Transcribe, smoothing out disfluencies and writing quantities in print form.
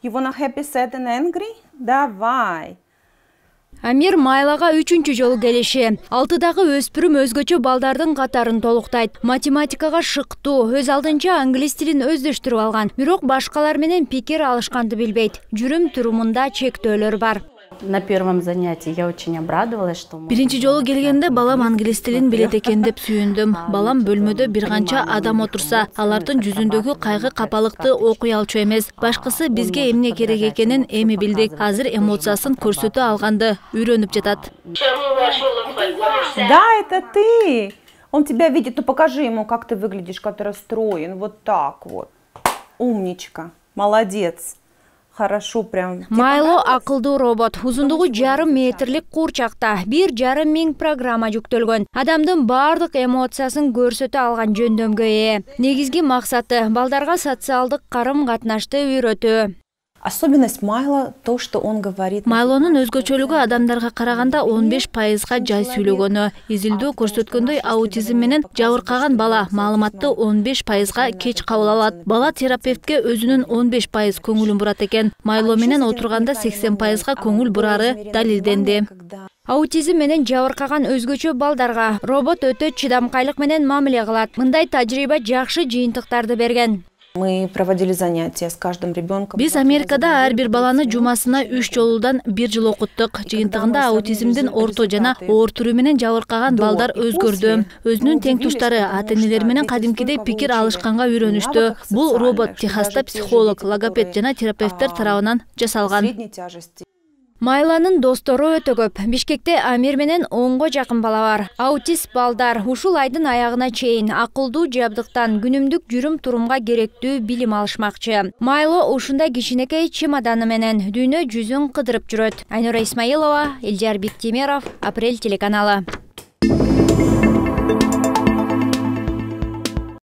You wanna happy, sad and angry? Давай. Амир Майлага 3-чү жолу келиши. 6-дагы өспүрүм өзгөчө балдардын катарын толуктайт. Математикага шыктуу, өз алдынча англис тилин өздөштүрүп алган. Бирок башкалар менен пикир алышканды билбейт. Жүрүм-турумунда чектөөлөр бар. На первом занятии я очень обрадовалась, что Биринчи жолу келгенде балам англис тилин билет экен деп сүйүндүм. Балам бөлмөдө бир канча адам отурса, алардын жүзүндөгү кайгы капалыкты окуй алчу эмес. Башкысы бизге эмне керек экенин эми билдик. Азыр эмоциясын көрсөтө алганды үйрөнүп жатат. Да, это ты. Он тебя видит, ну покажи ему, как ты выглядишь, как ты расстроен. Вот так вот. Умничка. Молодец. Хорошо прям. Майло акылдуу робот. Узундугу 1,5 метрлик курчакта 1,5 миң программа жүктөлгөн. Адамдын бардык эмоциясын көрсөтө алган жөндөмгө ээ. Негизги максаты балдарга социалдык карым-катнашты үйрөтүү. Особенность Майла то, что он говорит. Майлонун өзгөчөлүгү адамдарга караганда 15%га жай сүйлөгөнү. Изилдөө көрсөткөндөй аутизм менен жабыркаган бала маалыматты 15%га кеч кабыл алат. Бала терапевтке өзүнүн 15% көңүлүн бурат экен. Майло менен отурганда 80%га көңүл бурары далилденди. Аутизм менен жабыркаган өзгөчө балдарга робот өтө чыдамкайлык менен мамиле кылат. Мындай тажрыйба жакшы жыйынтыктарды берген. Мы проводили занятия с каждым ребенком. Биз Америкада ар бир баланы жумасына 3 жолудан 1 жыл окуттук. Жыйынтыгында аутизмдин орто жана оор түрү менен жабыркаган балдар өзгөрдү. Өзүнүн тең туштары ата-энелер менен кадимкидей пикир алышканга үйрөнүштү. Бул робот Техаста психолог, логопед жана терапевттер тарабынан жасалган. Майланын достору өтө көп. Бишкекте Амир менен 10го жакын бала бар. Аутист балдар ушул айдын аягына чейин акылдуу жабдыктан күнүмдүк жүрүм-турумга керектүү билим алышмакчы. Майло ушундай кичинекей чемоданы менен дүйнө жүзүн кыдырып жүрөт. Айнура Исмаилова, Элдияр Биктемиров, Апрель телеканалы.